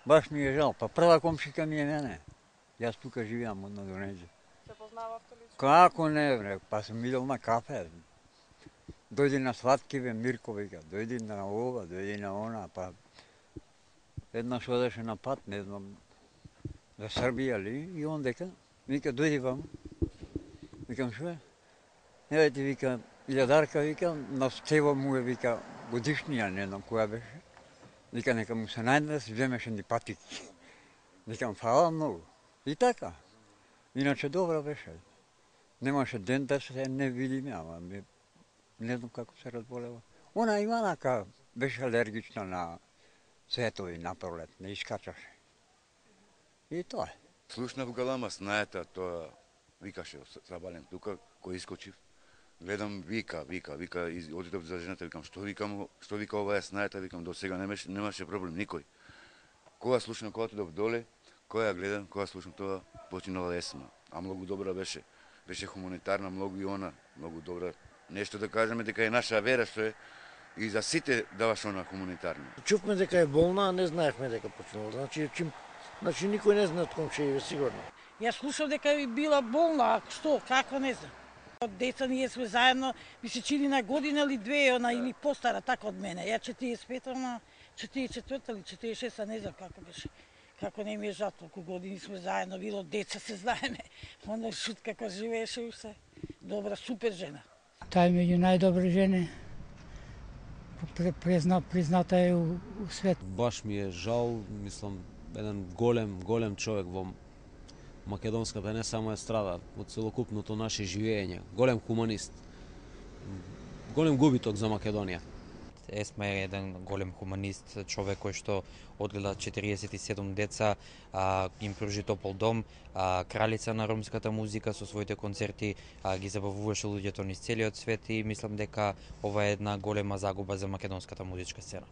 Баш ми е жал, па прва комшика ми е мене. Јас тука живеам на Донеđe. Се познававте лично? Како не, бре, па сум видел на кафе. Дојди на Слаткиве, Мирко вика, дојди на ова, дојди на она, па еднаш одеше на пат, не знам, за Србија ли, и он дека, вика, дојди ваму. Викам, шо е? Еве ти, вика, илјадарка, вика, на Стево му е, вика, годишнија, не знам која беше. Вика, нека му се најде да си вземеше ни патики. Викам, фала многу. И така. Иначе добра беше. Немаше ден да се не видиме, ама не знам како се разболева. Она Иванака беше алергична на цветови на пролет, не искачаше. И тоа е. Слушнав галама снајата, тоа викаше Сабален тука, кој искочив. Гледам вика, одидов за жената, викам, што вика ова е снајата, викам, до сега немаше проблем никој. Кога слушнав, кога отидов доле, кога ја гледам, кога слушнав тоа, починала есма. А многу добра беше. Беше хуманитарна, многу и она, многу добра. Нешто да кажеме дека е наша вера што е и за сите даваш она хуманитарна. Чувме дека е болна, а не знаевме дека починала. Значи никој не знае од комшија, сигурно. Јас слушав дека е била болна, а што, како не знам. Од деца ние сме заедно, ми се чини на година или две, она или постара така од мене. Ја 45, она 44 или 46, не знам како беше. Како не ми е жал, толку години сме заедно, било деца се знаеме. Оно шут како живееше уште. Добра, супер жена. Таа е меѓу најдобри жени. Призната е у свет. Баш ми е жал, мислам, еден голем човек во македонската не само естрада, во целокупното наше живење, голем хуманист. Голем губиток за Македонија. Есма е еден голем хуманист, човек кој што одгледа 47 деца, им пружи топол дом, кралица на ромската музика со своите концерти, ги забавуваше луѓето низ целиот свет и мислам дека ова е една голема загуба за македонската музичка сцена.